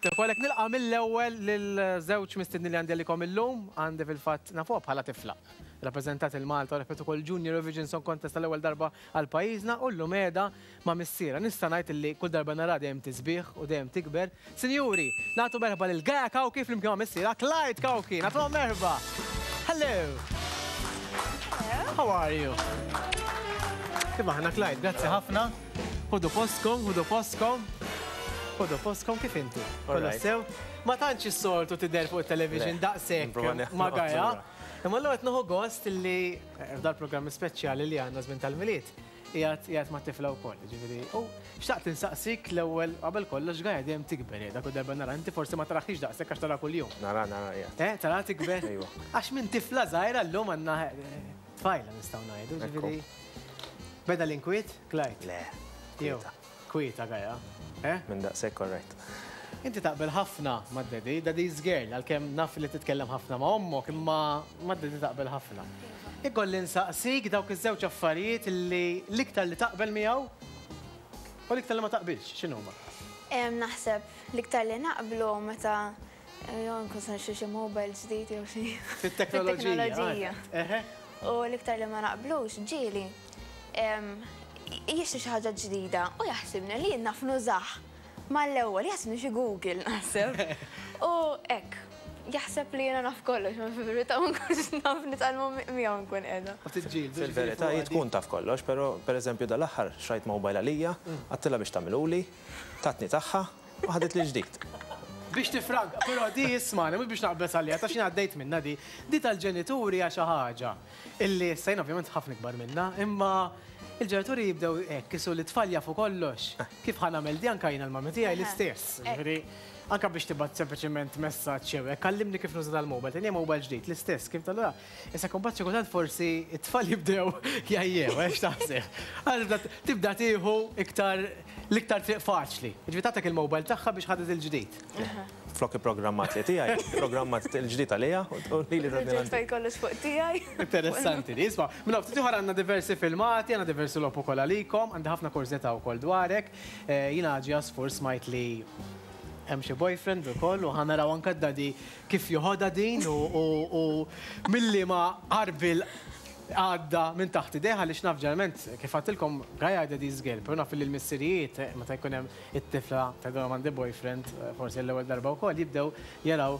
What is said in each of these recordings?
Sibtek u għalhekk nilqa' mill-ewwel lil żewġ mistiednin li għandi għalikom illum, għandi fil-fatt nafuha bħala tifla. Rappreżentat il-Malta u rebħet ukoll Junior Eurovision Song Contest għall-ewwel darba għal pajjiżna u llum qiegħda ma' missierha. Nista' ngħid illi kull darba naraha dejjem tisbieħ u dejjem tikber. Sinjuri, nagħtu merħba lil Gaia Cauchi flimkien ma' missierha Clyde Cauchi. Nagħtuhom merħba! Hello! How are you? Kif aħna Clyde? Grazzi ħafna. Ħudu postkom, ħudu postkom. Ħudu postkom kif inti? Kollox sew? Ma tantx is-soltu tidher fuq it-television daqshekk ma' Gaia. Imma llum qed nieħu gost li eh, f'dal-programmi speċjali li għandna żmien tal-Milied qiegħed qiegħed mat-tifla wkoll, ġifieri. U xtaqt insaqsik l-ewwel qabel kollox Gaia dejjem tikber qiegħda kull darba nara inti forsi ma taraħiex daqshekk għax tara kuljum. Nara, nara qiegħed. Eh, tara tikber? Ejwa. Għax minn tifla żgħira llum għandna eh, tfajla nistgħu ngħidu, ġifieri. Beda l-inkwiet, Clyde? Le, Jew, kwieta. Kwieta Gaia, eh? Minn daqshekk all right. Inti taqbel ħafna mad-daddy, daddy's girl, għalkemm naf li titkellem ħafna ma' ommok, imma mad-daddy taqbel ħafna. Ikolli nsaqsik dawk iż-żewġ affarijiet li l-iktar li taqbel miegħu u l-iktar li ma taqbilx, x'inhuma? Naħseb l-iktar li naqblu meta Jew nkun se nixtri xi mobile ġdid jew xi. Fit-teknoloġija. Fit-teknoloġija. U l-iktar li ma naqblux ġieli jixtri xi ħaġa ġdida u jaħsibni li jien naf nużah mal-ewwel, jaħsibni xi Google naħseb. U hekk, jaħseb li jiena naf kollox, ma fil-verità ma nkunx naf nitgħallmu miegħu nkun qiegħda. U tiġġieldu. Fil-verità hi tkun taf kollox, però pereżempju dal-aħħar xtrajt mobile għalija, għedtilha biex tagħmilhuli, tatni tagħha, U ħadet li ġdid. Biex tifranka, però di ismagħni, mhux biex naqbeż għaliha, ta' x'jien għaddejt minnha di. Di tal-ġenituri hija xi ħaġa illi issa jien ovvjament ħafna ikbar minnha, imma il-ġenituri jibdew hekk isu li t-tfal jafu kollox. Kif ħa nagħmel di anke jiena l-mummy tiegħi l-istess. Jiġifieri anke biex tibgħat sempliċement messaġġ jew hekk, għallimni kif nuża dal-mobile, tini mobile ġdid, l-istess kif tal Issa kumbat xi kultant forsi t-tfal jibdew jgħajjew, eh, x'taħseb? Għax tibda tieħu iktar l-iktar triq faċli. Jiġifieri tagħtek il-mobile tagħha biex ħadet il-ġdid. Flok ipprogrammat li tiegħi, ipprogrammat il-ġdid għaliha u lili tatni l-antik. Reġgħet kollox fuq tiegħi. Interessanti li, isma' minn hawn ftit ieħor għandna diversi filmati, għandna diversi logħob ukoll għalikom, għandi ħafna kurżità wkoll dwarek. Jiena ġi għasfur smajt li hemm xi boyfriend ukoll u ħa naraw anke d-daddy kif joħodha din u mil-liema għarbiel għadda minn taħt idejh għaliex naf ġeneralment kif għedtilkom Gaia Daddy's Girl, però naf li l-missirijiet meta jkun hemm it-tifla tgħidilhom għandi boyfriend forsi għall-ewwel darba wkoll jibdew jaraw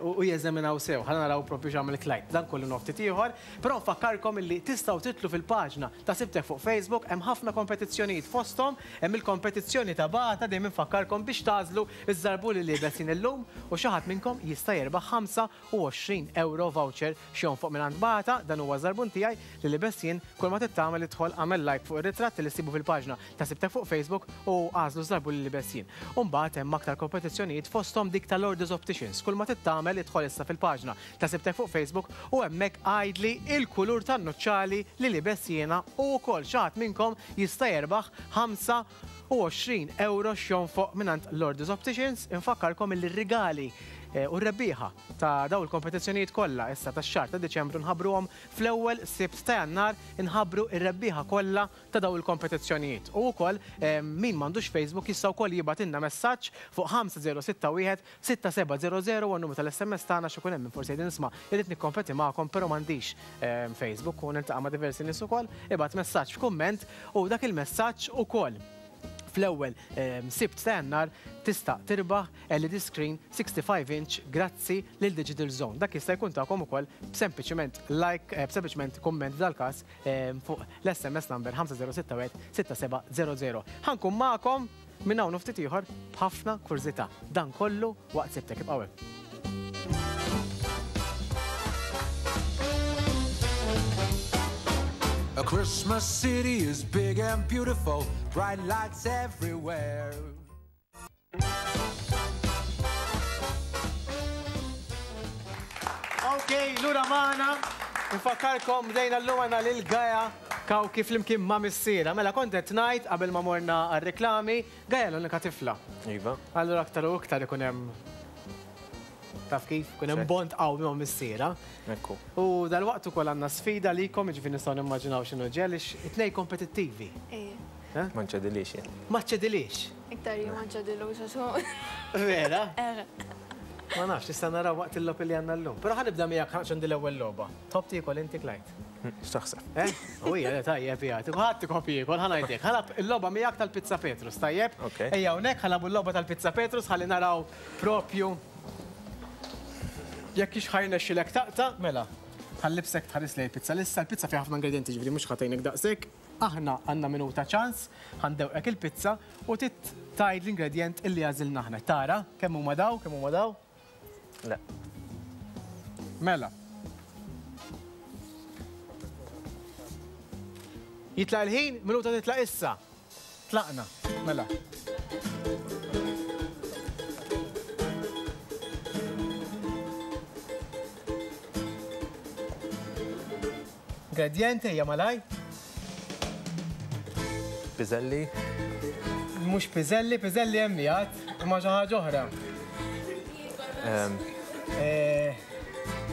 u jeżaminaw sew. Ħa naraw proprju x'għamel Clyde. Dan kollu naf ftit ieħor, però nfakkarkom illi tistgħu tidħlu fil-paġna ta' Sibtek fuq Facebook, hemm ħafna kompetizzjonijiet fosthom hemm il-kompetizzjoni ta' Bata dejjem infakkarkom biex tagħżlu Iż-żarbun li liebes jien illum u xi ħadd minnkom jista' jirbaħ 25 ewro voucher x'jonfoq mingħand Bata, dan huwa ż-żarbun tiegħi li libest jien, kull ma trid tagħmel idħol agħmel like fuq ir-ritratt li ssibu fil-paġna ta' Sibtek fuq Facebook u agħżlu ż-żarbun li libest jien. U mbagħad hemm aktar kompetizzjonijiet fosthom dik ta' Lourdes Opticians, kull ma trid tagħmel idħol issa fil-paġna ta' Sibtek fuq Facebook u hemmhekk għidli il-kulur tan-nuċċali li libest jiena u wkoll xi ħadd minnkom jista' jerbaħ 25 ewro x'jonfoq mingħand Lourdes Opticians. Infakkarkom illi r-rigali u r-rebbieħa ta' dawn il-kompetizzjonijiet kollha issa tax-xahar ta' Diċembru nħabbruhom fl-ewwel Sibt ta' Jannar inħabbru r-rebbieħa kollha ta' dawn il-kompetizzjonijiet. U wkoll min m'għandux Facebook jista' wkoll jibgħatilna messaġġ fuq 5061 6700 huwa n-numru tal-SMS tagħna x'ikun hemm min forsi jgħidilna isma' irrid nikkompeti magħkom però m'għandix Facebook u niltaqa' ma' diversi nies ukoll, ibgħat messaġġ f'kumment u dak il-messaġġ ukoll fl-ewwel Sibt ta' Jannar tista' tirbaħ LED screen 65 inch grazzi lil Digital Zone. Dak jista' jkun tagħkom ukoll b'sempliċiment like, b'sempliċiment kumment f'dal-każ fuq l-SMS number 5061 6700. Ħa nkun magħkom Minn hawn u ftit ieħor b'ħafna kurżità. Dan kollu waqt Sibtek. Ibqgħu hemm. A Christmas city is big and beautiful, bright lights everywhere. Ok, lura magħna. Infakkarkom bdejna llum għandna lil Gaia Cauchi flimkien ma' missierha. Mela kont qed ngħid qabel ma morna għar-reklami, Gaia l-unika tifla. Iva. Allura aktar u iktar ikun hemm taf kif, ikun hemm bond qawwi ma' missierha. Ekku. U dalwaqt ukoll għandna sfida għalikom, jiġifieri nistgħu nimmaġinaw x'inhu ġej għaliex it-tnejn kompetittivi. Ejja. Ma nċedilix jien. Ma ċċedilix? Iktar jien ma nċedilux għax hu. Vera? Eh. Ma nafx, issa naraw waqt il-logħob li għandna llum. Però ħa nibda miegħek għax għandi l-ewwel logħba. Tħobb tiekol inti Clyde? X'taħseb? Eh? U hija le tajjeb hija. Ħadd ikopp jiekol, ħa ngħidlek. Ħa nilgħab il-logħba miegħek tal-Pizza Petrus, tajjeb? Ok. Ejja hawnhekk ħa nilagħbu l-logħba tal-Pizza Petrus ħalli naraw propju jekk hix ħa jirnexxilek taqta', mela. Ħa nlibbsek tħares lejn il-pizza lissa, il-pizza fiha ħafna ingredjenti ġifieri mhux ħa tgħinek daqshekk. Aħna għandna minuta ċans, ħa ndewqek il-pizza u trid tgħid l-ingredjent illi għażilna aħna. Tara kemm huma daw, kemm huma daw? Le. Mela. Jitlaq il-ħin, minuta titlaq issa. Tlaqna, mela. Ingredjenti ejja malaj. Piżelli. Mhux piżelli, piżelli hemm jgħad, imma xi ħaġa oħra.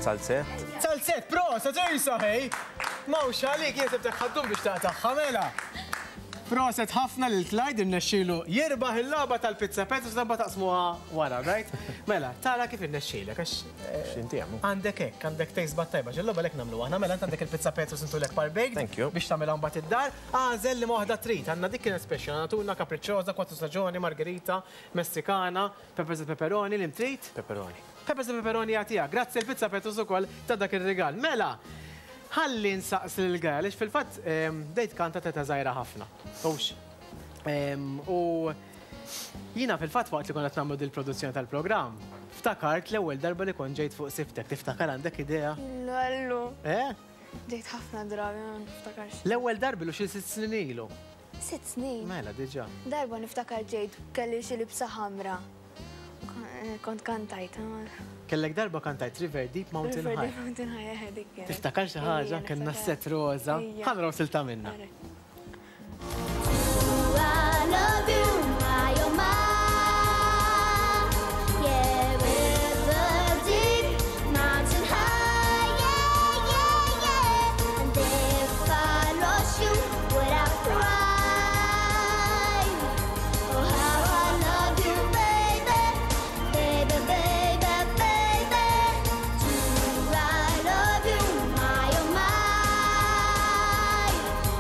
Salzett. Salzett, proset, ejsa ħej! Mawx għalik, jien sibtek ħaddum biex taqtagħha mela. Proset ħafna lil Clyde irnexxielu jirbaħ il-logħba tal-Pizza Petrus darba taqsmuha wara, right? Mela, tara kif irnexxielek għax X'inti għamu? Għandek hekk, għandek taste bud tajba, x'il-logħba lek nagħmlu aħna, mela int għandek il-Pizza Petrus intulek par baked Thank you. biex tagħmilha mbagħad id-dar. Agħżel liema waħda trid. Għandna dik kienet special, għandna tuna, capricciosa, quattro stagioni, margherita, messikana, peppers e pepperoni, li trid? Pepperoni. Peppers e pepperoni jagħtiha. Grazzi l-Pizza Petrus ukoll ta' dak ir-rigal. Mela, ħalli nsaqsi lil Gaia, għaliex fil-fatt bdejt kanta t'età żgħira ħafna. Hux. U jiena fil-fatt waqt li konna qed nagħmlu dil-produzzjoni tal-programm, ftakart l-ewwel darba li kont ġejt fuq siftek. Tiftakar għandek idea? Lallu. Eh? Ġejt ħafna drabi, ma niftakarx. L-ewwel darba ilu xi 6 snin ilu. 6 snin? Mela, diġà. Darba niftakar ġejt kelli xi libsa ħamra. Kont kantajt. Kellek darba kantajt River Deep Mountain River High. Deep Mountain High, eh, dik kienet. Tiftakar xi ħaġa? Ejja, Kellna niftakar. set roża. Ejja. Ħa naraw silta minna. Ara. I love you, my oh my. Yeah, river deep, mountain high, yeah, yeah, yeah. And if I lost you, would I cry? Oh, how I love you, baby, baby, baby, baby. Do I love you, my oh my?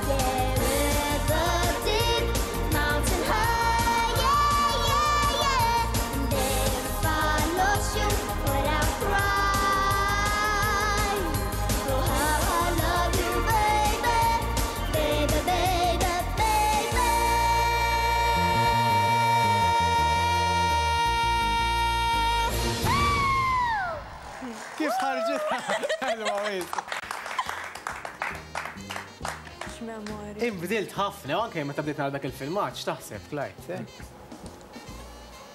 Yeah, river deep, mountain high, yeah, yeah, yeah. And if I lost you, would I cry? Oh, how I love you, baby, baby, baby, baby. Kif ħarġet? Ħelwa wisq. X'memorja. Inbdilt ħafna, u anke meta bdejt nara dak il-filmat, x'taħseb, Clyde? Eh?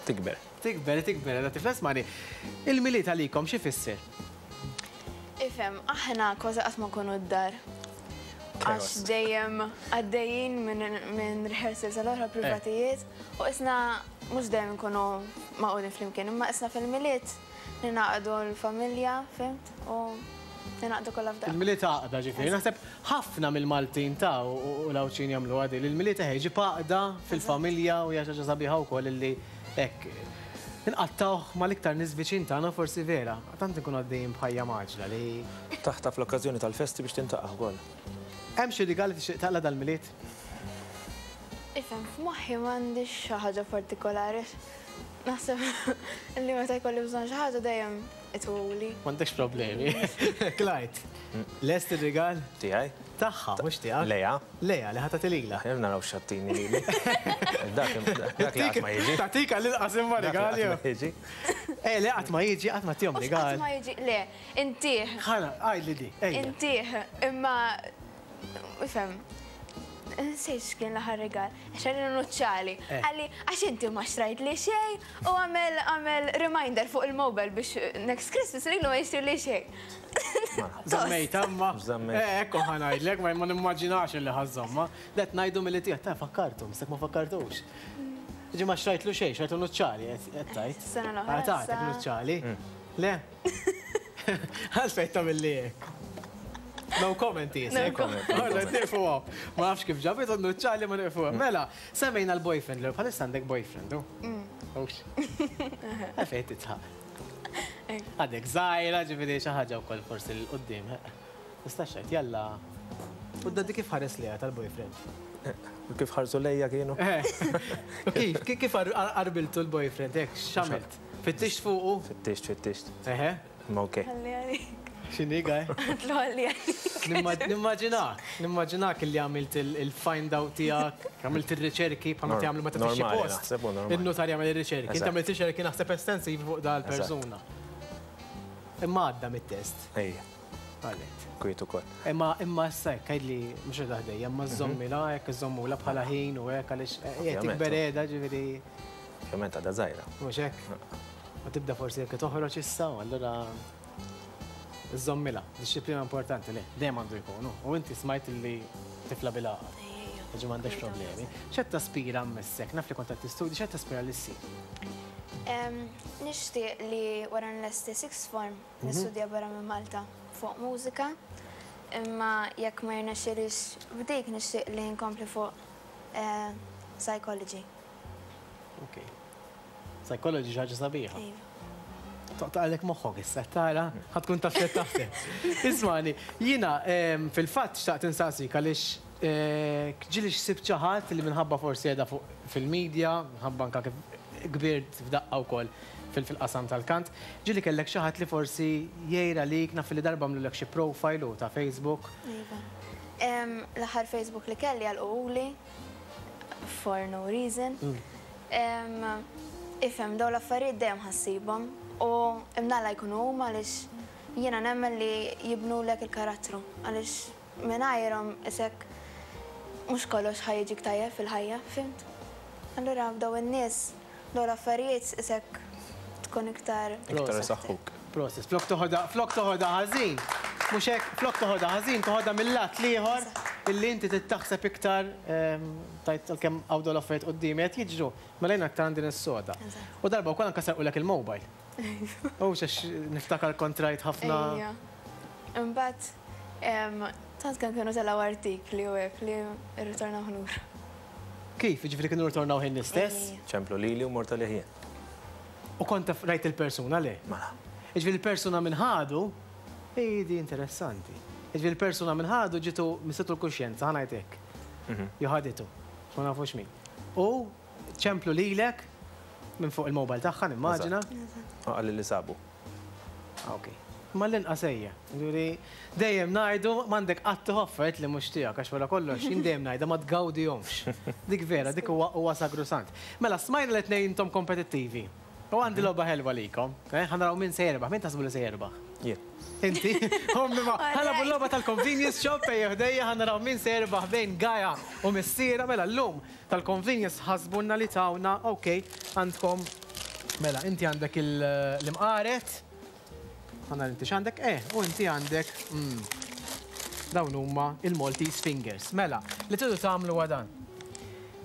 Tikber. Tikber, tikber, da tifles mani. Il-Milied għalikom xi fisser? Ifhem, aħna kważi qatt ma nkunu d-dar. Għax Chaos. dejjem għaddejjin minn rehearsals għal oħra privatijiet u isna mhux dejjem nkunu magħqudin flimkien, imma isna fil-Milied ninaqdu l-familja, fimt? U ninaqdu kollha f'daqqa. Il-Milied għaqda ġifieri. Naħseb ħafna mill-Maltin ta' u l-Għawdxin jagħmlu għadi. Il-Milied eħe jġib għaqda fil-familja u hija xi ħaġa sabiħa wkoll illi hekk inqattawh mal-iktar nies viċin tagħna forsi vera. Tant inkunu għaddejjin b'ħajja maġla li Taħtaf l-okkażjoni tal-festi biex tintaqa' wkoll. Hemm xi rigal li tixtieq taqla' dal-Milied? Ifhem, f'moħħi m'għandix xi ħaġa partikolari. Naħseb li meta jkolli bżonn xi ħaġa dejjem ituli. M'għandekx problemi. Clyde, lest ir-rigal? Tiegħi? Tagħha, mhux tiegħek. Leja. Leja, li ħa tagħti lilha. Aħjar naraw x'għattini lili. Dak dak li qatt ma jiġi. Tagħtik għall-inqas imma Dak li rigal qatt jew. ma jiġi. Eh, le qatt ma jiġi, qatt ma tihom Mhux rigal. qatt ma jiġi, le, intih. Ħana, għidli di, ejja. Intih, imma ifhem. Nsejt x'kien l-aħħar rigal. Xerri nuċċali. Eh. Qalli, għax inti ma xtrajt li xejn u għamel għamel reminder fuq il-mobile biex next Christmas lilu ma jixtri li xejn. Żammejt, amma. Żammejt. Eh, ekku ħa ngħidlek, ma nimmaġinax illi ħażżomma. Let ngħidu milli tiegħek, ta' fakkartu, mistek ma fakkartux. Ġi ma xtrajtlu xejn, xtrajtlu nuċċali, qed tgħid. Sena l-oħra, Ah, tagħtek sa- nuċċali. Le. Għalfejn tagħmel li hekk. No comment jisek. No comment. Allora, nieqfu hawn. Ma nafx kif ġabit u nuċċali ma nieqfu hawn. Mela, semmejna l-boyfriend, l bħalissa għandek boyfriend, u? Ux. Għalfejn titħaq. Għadek żgħira, ġifieri xi ħaġa wkoll forsi 'l quddiem. Tista' xejn, jalla. U d-daddy kif ħares lejha tal-boyfriend? U kif ħarsu lejja kienu? U kif, kif qarbiltu l-boyfriend, hekk, x'għamilt? Fittixt fuqu? Fittixt, fittixt. Eħe. Ma ok. Ħalli għalik. X'inhi gaj? Għatlu ħalli għalik. Nimmaġinak, nimmaġinak li għamilt il-find out tiegħek, għamilt ir-riċerki bħalma tagħmlu meta tixtri Normali, post. naħseb, u normali. Il-notar jagħmel ir-riċerki. Inti Eżatt. għamilt riċerki naħseb estensivi fuq dal-persuna. Imma għadda mit-test. Ejja, Għalet. kwiet ukoll. Imma imma issa hekk għidli mhux qed ħdejja, imma żommilha hekk iżommula bħala ħin u hekk għaliex qed Ovvjament, tikber qiegħda ġifieri Ovvjament għadha żgħira. mhux hekk. Ma tibda forsi jekk toħroġ issa u allura żommilha. Dixxiplina importanti le, dejjem għandu jkunu. U inti smajt li tifla bil-għaqal. Ġi m'għandekx problemi. X'qed taspira mmissek? Naf li kont qed tistudji, x'qed taspira li ssir? Nixtieq li wara nlesti sixth form nistudja barra minn Malta fuq mużika, imma jekk ma jirnexxilix b'dik nixtieq li nkompli fuq eh, psychology. Ok. Psychology xi ħaġa sabiħa. Iva. Toqtaqlek moħħok issa, tara, ħa tkun taf x'qed taħseb. Ismani, jiena fil-fatt xtaqt insaqsik għaliex eh, ġieli xsibt xi ħadd li minħabba forsi qiegħda fuq fil-medja, minħabba anka kif kbirt f'daqqa wkoll fil-qasam tal-kant, ġieli kellek xi ħadd li forsi jgħira lik naf li darba għamlulek xi profile u ta' Facebook. Iva. L-aħħar Facebook li kelli għalquhuli for no reason. Em, Ifhem, dawn l-affarijiet dejjem ħassibhom u imnalla jkunu huma għaliex jiena nemmen li jibnulek il-karattru għaliex mingħajrhom isek mhux kollox ħa jiġik tajjeb fil-ħajja, fhimt? Allura daw in-nies, dawn l-affarijiet isek tkun iktar Iktar isaħħuk. Prosit. Flok toħodha, flok toħodha ħażin. Mhux hekk, flok toħodha ħażin, toħodha mill-lat l-ieħor illi inti tittaħseb iktar tajt għalkemm hawn dawn l-affarijiet quddiemi qed jiġru, mela jiena aktar għandi nissoda. U darba wkoll anke sarqulek il-mobile. U għax niftakar kont rajt ħafna. Ejja. Imbagħad tant kemm kienu telgħu artikli u hekk li rritornaw lura. Kif? Jiġifieri kienu rritornaw ħin l-istess? Ejja. Ċemplu lili u mort għalih jien. U kont taf rajt il-persuna le? Mela. Jiġifieri il-persuna minn ħadu, ej di interessanti. Jiġifieri il-persuna minn ħadu ġitu missitu l-kuxjenza, ħa ngħid hekk. Jew ħaditu, ma nafux min. U ċemplu lilek minn fuq il-mobile tagħha nimmaġina. U qalli li sabu. Ah, ok. Ma l-inqas ejja. Ġifieri dejjem ngħidu m'għandek qatt tieħu affarijiet li mhux tiegħek għax wara kollox jien dejjem ngħidha ma tgawdihomx. Dik vera, dik huwa huwa sagrosant. Mela smajna li tnejn intom kompetittivi. U għandi logħba ħelwa likom. Eh, ħa naraw min se jerbaħ. Min taħsbu li se jerbaħ? Jien. Inti? Ommi ma. Ħa nilagħbu l-logħba tal-convenience shop ejja ħdejja ħa naraw min se jerbaħ bejn Gaia u missiera. Mela llum tal-convenience ħasbunna li tawna, ok, għandkom mela inti għandek l-imqaret. Ħa nara inti x'għandek? Eh, u inti għandek dawn huma il-Maltese Fingers. Mela, li tridu tagħmlu huwa dan.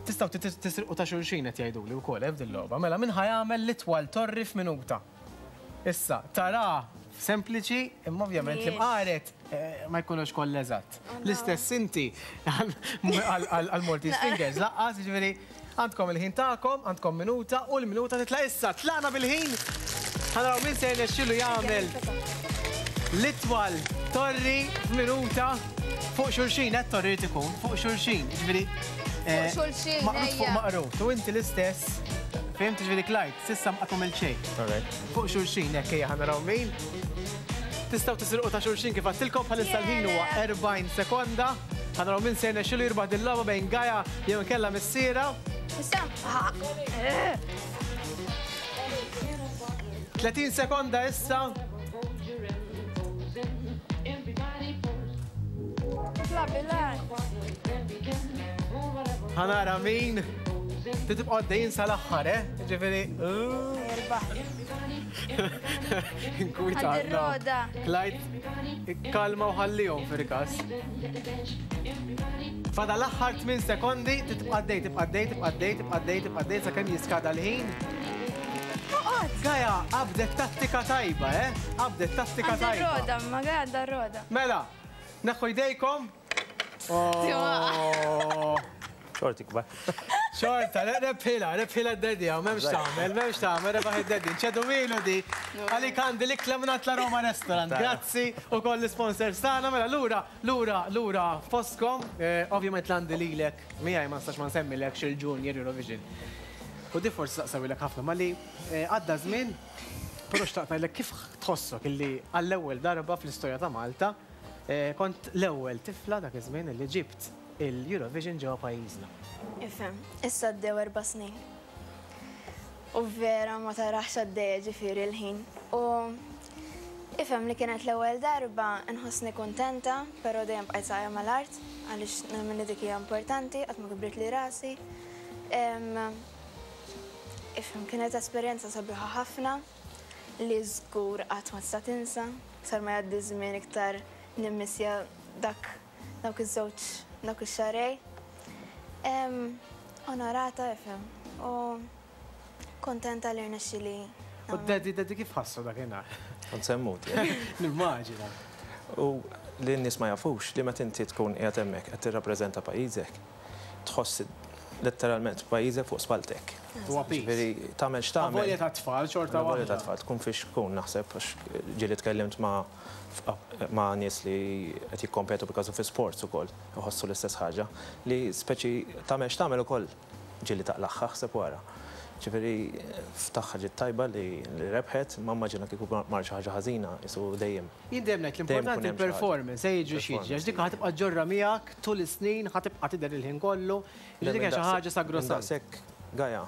Tistgħu tisirqu ta' xulxin qed jgħiduli wkoll eh, f'din logħba. Mela min ħa jagħmel l-itwal torri f'minuta. Issa, tara sempliċi, imma ovvjament l-imqaret ma jkunux kollha eżatt. L-istess inti għal-Maltese Fingers, laqqas, ġifieri għandkom il-ħin tagħkom, għandkom minuta u l-minuta titla' issa. Tlaqna bil-ħin. Ħa naraw min se jirnexxielu jagħmel l-itwal torri f'minuta fuq xulxin, qed torri jrid ikun fuq xulxin, ġifieri Fuq xulxin, maqrut fuq ejja. maqrut. U inti l-istess, fhimt ġifieri Clyde, s'issa ma qatt għamilt xejn. Fuq xulxin, hekk ejja ħa naraw min. Tistgħu tisirqu ta' xulxin kif għedtilkom bħalissa l-ħin huwa 40 sekonda. Ħa naraw min se jirnexxielu jirbaħ din il-logħba bejn Gaia jew inkella missiera. Issa, ha. 30 sekonda issa. Tla bil-għar. Ħa nara min. Tibqgħu għaddejjin sal-aħħar, eh? Ġifieri. Jirbaħ. Inkwita. Għandi r-roda. Clyde, kalma u ħallihom fil-każ. Fada l-aħħar 8 sekondi, tibqa' għaddej, tibqa' għaddej, tibqa' għaddej, tibqa' għaddej, tibqa' għaddej sakemm jiskada l-ħin. Oqgħod. Gaia, qabdet tattika tajba, eh? Qabdet tattika Għandi tajba. r-roda, ma Gaia għandha r-roda. Mela, Neħħu jdejkom. Oh. Xorti kbar. Xorta, rebħila, rebħila d-daddy, m'hemmx tagħmel, m'hemmx tagħmel, rebaħ id-daddy. Nċedu milu di. Għalik għandi l-ikla minn la Roma Restaurant. Grazzi u koll l-sponsors tagħna. Mela lura, lura, lura fostkom. Ovvjament l-għandi lilek, miegħi ma nistax ma nsemmilek xil-Junior Eurovision. U di forsi saqsawilek ħafna, ma li għadda żmien, però xtaqt ngħidlek kif tħossok illi għall-ewwel darba fl-istorja ta' Malta kont l-ewwel tifla dak iż-żmien illi ġibt il-Eurovision ġewwa pajjiżna. Ifhem, issa għaddew 4 snin. U vera ma tarax għaddejja ġifieri l-ħin. U ifhem li kienet l-ewwel darba nħossni kuntenta, però dejjem bqajt saqajja mal-art għaliex nemmen li dik hija importanti, qatt ma kibritli rasi. Ifhem, kienet esperjenza sabiħa ħafna li żgur qatt ma tista' tinsa. Iktar ma jgħaddi żmien iktar nimmissja dak dawk iż-żewġ dawk ix-xahrejn. Onorata ifhem u kuntenta li rnexxieli. U d-daddy, daddy kif ħassu dakinhar? Kont se mmut jien. Nimmaġina. U li n-nies ma jafux li meta inti tkun qiegħed hemmhekk qed tirrappreżenta pajjiżek, tħoss letteralment pajjiżek fuq spalltek. Huwa piż. Ġifieri tagħmel x'tagħmel. Avolja tat-tfal xorta waħda. Avolja tat-tfal tkun fiex tkun naħseb għax ġieli tkellimt ma' ma' nies li qed jikkompetu per kasu fi sports ukoll iħossu l-istess ħaġa li speċi tagħmel x'tagħmel ukoll ġieli taqlagħha ħseb wara. Ġifieri f'tagħha ġiet tajba li rebħet, ma immaġina kieku mar xi ħaġa ħażina qisu dejjem. Jien dejjem ngħid l-importanti l-performance, ejja jiġri x'jiġri, għax dik ħa tibqa' ġġorrha miegħek tul is-snin, ħa tibqa' tidher il-ħin kollu, ġifieri dik hija xi ħaġa sagrosanta. Daqshekk Gaia,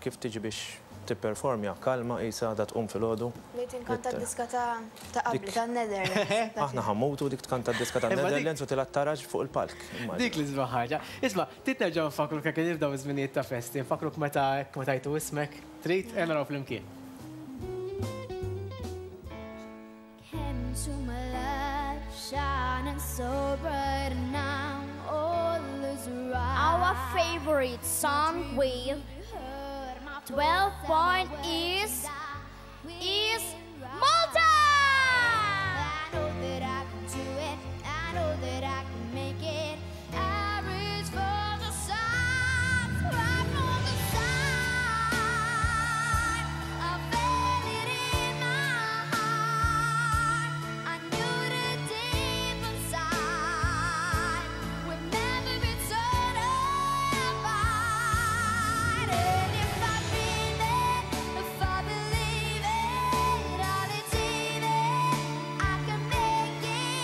kif tiġi biex tipperformja, kalma qisha għadha tqum filgħodu. Bdejt inkanta d-diska ta' qabli, tan-Netherlands. Aħna ħa mmutu dik tkanta d-diska tan-Netherlands u tilgħab taraġ fuq il-palk. Dik l-isbaħ ħaġa. Isma', trid nerġgħu nfakkruk hekk nibdew iż-żminijiet ta' festi, nfakkruk meta hekk meta jtu ismek? Trid? Ejja naraw flimkien. Came into my life shining so bright and now all is right. Our favorite song with 12 point is Malta! I know that I can do it. I know that I can make it. I reach for the stars, right from the start. I felt it in my heart. I knew that deep inside we'd never be torn apart. And if I dream it, if I believe it, I'll achieve it. I can make it.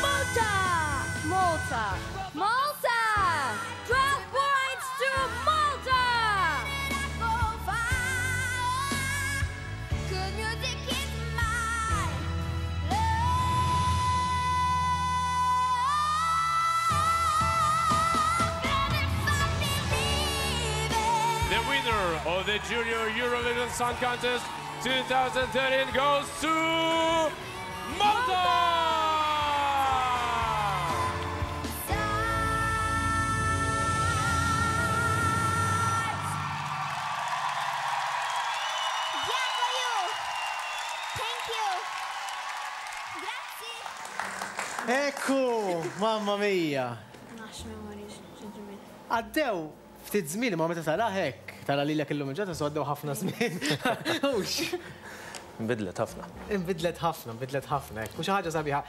Malta! Malta! Malta! 12 points to Malta! Good music is my love. And if I believe it. The winner of the Junior Eurovision Song Contest 2013 goes to Malta! Yeah, for you. Thank you. Grazzi. Ekku, mamma mia. Nax memories, xi ġmiel. Għaddew ftit żmien ma meta tara hekk, tara lilek illum il-ġurnata so għaddew ħafna żmien. Hux. Nbidlet ħafna. Inbidlet ħafna, nbidlet ħafna, hekk. U xi ħaġa sabiħa.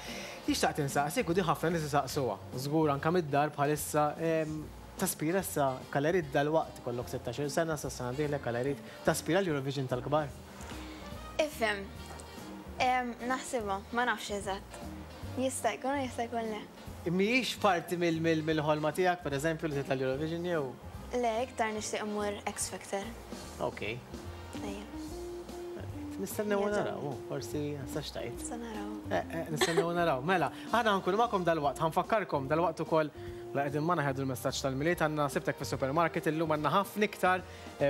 Jixtaq tinsaqsik u di ħafna nies isaqsuha. Żgur anke mid-dar bħalissa taspira issa kalerid dal-waqt ikollok 16 sena sa sena dieħla kalerid taspira l-Eurovision tal-kbar. Ifhem, naħsibha, ma nafx eżatt. Jista' jkun u jista' jkun le. Mhijiex parti mill-ħolma tiegħek, pereżempju, li titla' l-Eurovision jew? Le, iktar nixtieq immur X Factor. Ok. Ejja. Nistennew u naraw, forsi sa xtajt. Sa naraw. Nistennew u naraw. Mela, aħna nkunu magħkom dal-waqt, ħanfakkarkom dal-waqt ukoll La qegħdin magħna ħadu l-messaġġ tal-Milied, għandna Sibtek fis-supermarket illum għandna ħafna iktar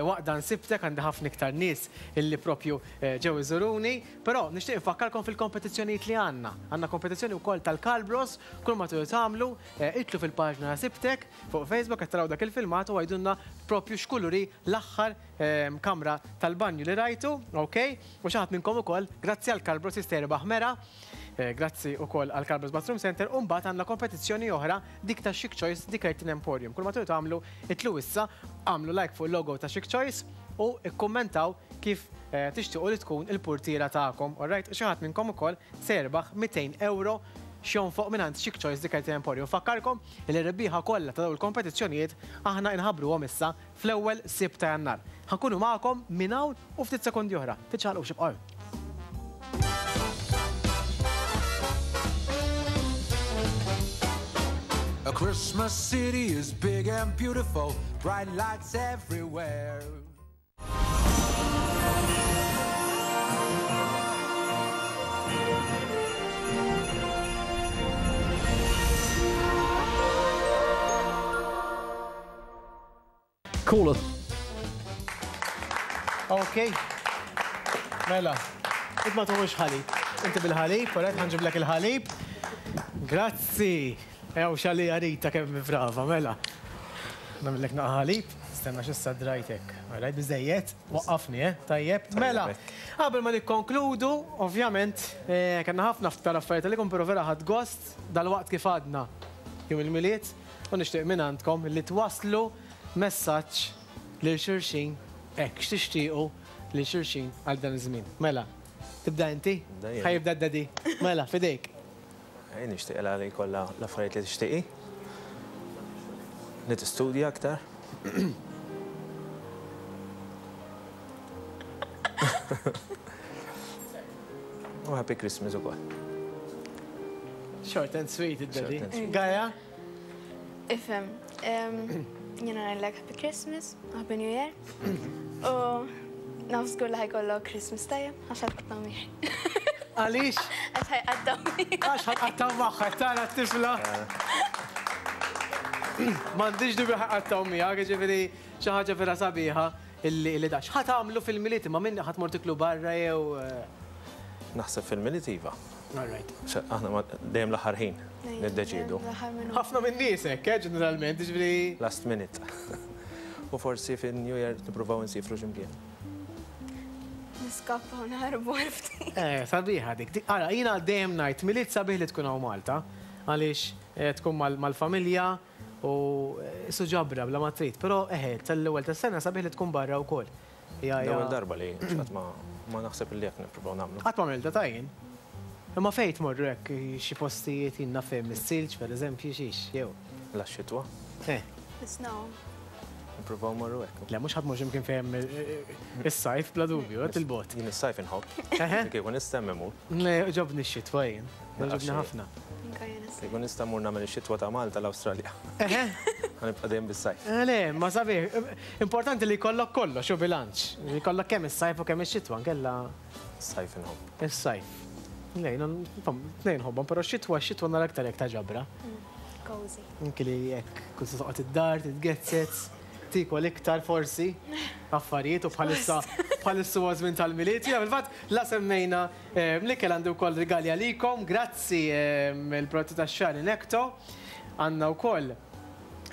waqt dan Sibtek, għandi ħafna iktar nies illi propju ġew iżuruni, però nixtieq infakkarkom fil-kompetizzjonijiet li għandna. Għandna kompetizzjoni wkoll tal-Calbros, kull ma tridu tagħmlu, idħlu fil-paġna ta' Sibtek fuq Facebook qed taraw dak il-filmat u għidulna propju x'kulur hi l-aħħar kamra tal-banju li rajtu, ok? U xi ħadd minnkom ukoll, grazzi għal Calbros jista' jirbaħ mera. Grazzi ukoll għal Carbos Bathroom Centre u mbagħad għandna kompetizzjoni oħra dik ta' Chic Choice The Curtain Emporium. Kull ma tridu tagħmlu itlu issa, agħmlu like fuq il-logo ta' Chic Choice u kkummentaw kif tixtiequ li tkun il-purtiera tagħkom, alright? U xi ħadd minnkom ukoll se jirbaħ 200 ewro x'jonfoq mingħand Chic Choice The Curtain Emporium. Nfakkarkom li r-rebbieħa kollha ta' dawn il-kompetizzjonijiet aħna inħabbruhom issa fl-ewwel Sibt ta' Jannar. Ħa nkunu magħkom minn hawn u ftit sekondi oħra. Tiċċaqalqux ibqgħu hemm. A Christmas city is big and beautiful, bright lights everywhere. Call us. Ok. Mela, int ma tuħux ħalib. Inti bil-ħalib, alright, ħanġiblek il-ħalib. Grazzi. Ew xali Rita kemm brava, mela. Nagħmellek naqa' ħalib. Stenna x'issa drajtek. Alright, biżejjed. Waqqafni, eh? Tajjeb. Mela, qabel ma nikkonkludu, ovvjament, eh, kellna ħafna ftar affarijiet għalikom, però vera ħadd gost dal-waqt kif għadna jum il-Milied u nixtieq minn għandkom li twasslu messaġġ lil xulxin hekk x'tixtiequ lil xulxin għal dan iż-żmien. Mela, tibda inti? Ħa jibda d-daddy. Mela, f'idejk. Jien nixtieqilha li jkollha l-affarijiet li tixtieq hi. Li tistudja aktar. U Happy Christmas ukoll. Short and sweet id-daddy. Gaia? Ifhem, jiena ngħidlek Happy Christmas, Happy New Year. U naf żgur li ħajkollok Christmas tajjeb għax ħatqattaw miegħi. Għaliex? Għax ħajqattaw miegħi. Għax ħatqattaw magħha, tara t-tifla. M'għandix dubju ħajqattaw miegħek, jiġifieri xi ħaġa vera sabiħa illi da. X'ħa tagħmlu fil-Milied imma min ħa tmur tiklu barra jew? Naħseb fil-Milied iva. All right. Aħna dejjem l-aħħar ħin niddeċiedu. Ħafna minn nies hekk, eh, ġeneralment, jiġifieri. Last minute. U forsi fin-New Year nippruvaw insifru xi mkien. Niskappaw naħarbu għal ftit. Eh, sabiħa dik. Ara, jiena dejjem ngħid Milied sabiħ li tkun hawn Malta, għaliex tkun mal-familja u qisu ġabra bla ma trid. Però eħe, tal-ewwel tas-sena sabiħ li tkun barra wkoll. L-ewwel darba li qatt ma ma naħseb li hekk nippruvaw nagħmlu. Qatt ma għamiltha ta' jien. Imma fejn tmorru hekk xi postijiet jien naf fejn mis-silġ pereżempju xiex jew. La x-xitwa. Eh. Is-snow. Nippruvaw mmorru hekk. Le mhux ħadd mhux imkien fejn hemm is-sajf bla dubju, qed il-bogħod. Jien is-sajf inħobb. Kieku nista' hemm imur. Le jogħġobni x-xitwa jien. Jogħġobni ħafna. Kieku nista' mmur nagħmel ix-xitwa ta' Malta l-Awstralja. Eħe. Ħa nibqa' dejjem bis-sajf. Le, ma sabiħ. Importanti li jkollok kollox u bilanċ. Li jkollok kemm is-sajf u kemm ix-xitwa, nkella. Is-sajf inħobb. Is-sajf. Le, jiena tnejn nħobbhom, però x-xitwa, x-xitwa nara aktar hekk ta' ġabra. Cozy. Anki li hekk kull se toqgħod id-dar, titgezzez, tiekol iktar forsi affarijiet u bħalissa bħalissa huwa żmien tal-Milied. Jiena fil-fatt la semmejna l-ikel għandi wkoll rigali għalikom, grazzi il-prodotti tax-xagħar Inecto. Għandna wkoll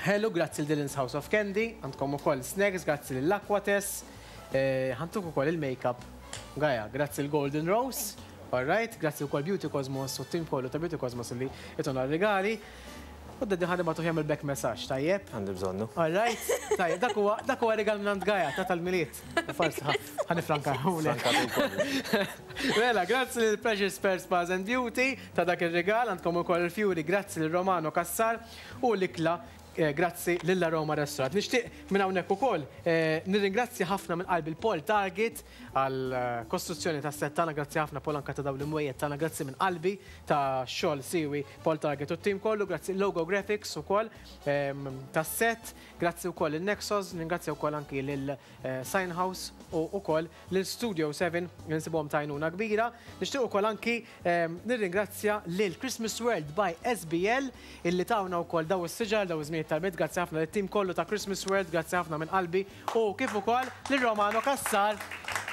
ħelu grazzi lil Dylan's House of Candy, għandkom ukoll snacks grazzi lil Aquates, ħantuk ukoll il-makeup Gaia, grazzi l Golden Rose, all right, grazzi wkoll Beauty Cosmos u t-tim kollu ta' Beauty Cosmos li jtuna r-rigali. U d-daddy ħa nibgħatuh jagħmel back massage, tajjeb? Għandi bżonnu. All right, tajjeb, dak huwa dak huwa rigal minn għand Gaia ta' tal-Milied. Forsi ħa nifrankahulek. Mela, grazzi lil Precious Pearl Spas and Beauty ta' dak ir-rigal, għandkom ukoll il-fjuri grazzi lil Romano Cassar u l-ikla. Grazzi lil Aroma Restaurant. Nixtieq minn hawnhekk ukoll nirringrazzja ħafna minn qalbi l-Paul Target għal kostruzzjoni tas-set tagħna, grazzi ħafna Paul anke ta' dawn l-imwejjed tagħna, grazzi minn qalbi ta' xogħol siwi Paul Target u t-tim kollu, grazzi Logo Graphics ukoll tas-set, grazzi wkoll lil Nexos, nirringrazzja wkoll anki lil Sign House u wkoll lil Studio 7 li nsibuhom ta' għajnuna kbira. Nixtieq ukoll anki nirringrazzja lil Christmas World by SBL illi tawna wkoll daw is-siġar, daw iż-żminijiet tal-Milied. Grazzi ħafna lit-tim kollu ta' Christmas World, grazzi ħafna minn qalbi u kif ukoll lil Romano Cassar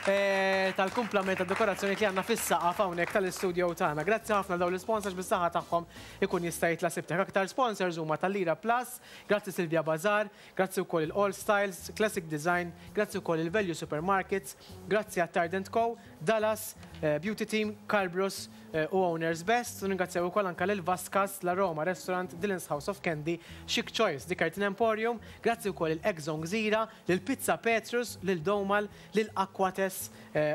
tal-kumplament tad-dekorazzjonijiet li għandna fis-saqaf hawnhekk tal-istudio tagħna. Grazzi ħafna dawn l-isponsors bis-saħħa tagħhom ikun jista' jitla' sibtek. Aktar sponsors huma tal-Lira Plus, grazzi Silvia Bazar, Grazzi wkoll il All Styles, Classic Design, grazzi wkoll il Value Supermarkets, grazzi Attard and Co, Dallas, Beauty Team, Carbrus u Owners Best, u ningrazzjaw ukoll anke lil Vascas, La Roma Restaurant, Dylan's House of Candy, Chic Choice, The Curtain Emporium, grazzi wkoll lil Egg Zone Gżira, lil Pizza Petrus, lil Domal, lil Aquates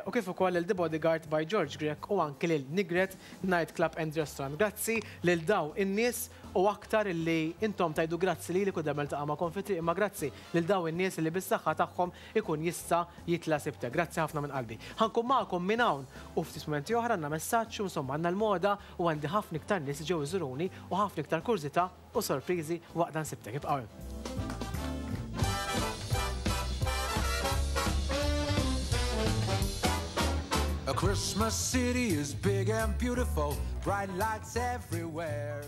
u kif ukoll lil The Bodyguard by George Grech u anki lil Nigret Night Club and Restaurant. Grazzi lil daw in-nies u aktar illi intom tgħidu grazzi lili kull darba niltaqa' magħkom fit-triq imma grazzi lil dawn in-nies illi bis-saħħa tagħhom ikun jista' jitla' sibtek. Grazzi ħafna minn qalbi. Ħa nkun magħkom minn hawn u ftit mumenti oħra għandna messaġġ u insomma għandna l-moda u għandi ħafna iktar nies li ġew iżuruni u ħafna iktar kurżità u sorpriżi waqt dan sibtek. Ibqgħu hemm. A Christmas city is big and beautiful, bright lights everywhere.